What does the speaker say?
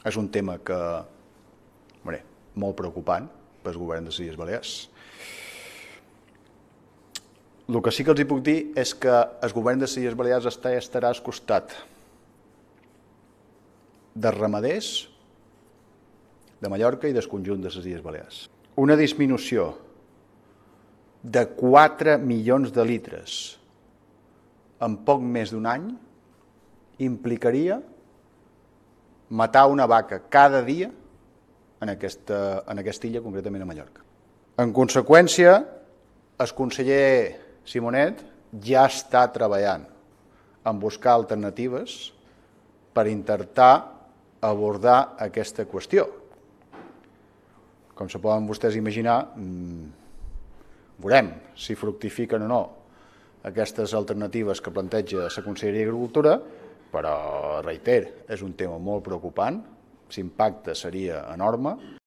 És un tema que, molt preocupant pel govern de les Illes Balears. El que sí que els puc dir és que el govern de les Illes Balears estarà al costat dels ramaders de Mallorca i del conjunt de les Illes Balears. Una disminució de 4 milions de litres en poc més d'un any implicaria matar una vaca cada dia en aquesta illa, concretament a Mallorca. En conseqüència, el conseller Simonet ja està treballant en buscar alternatives per intentar abordar aquesta qüestió. Com se poden vostès imaginar, veurem si fructifiquen o no aquestes alternatives que planteja la Conselleria d'Agricultura, però, reiter, és un tema molt preocupant, l'impacte seria enorme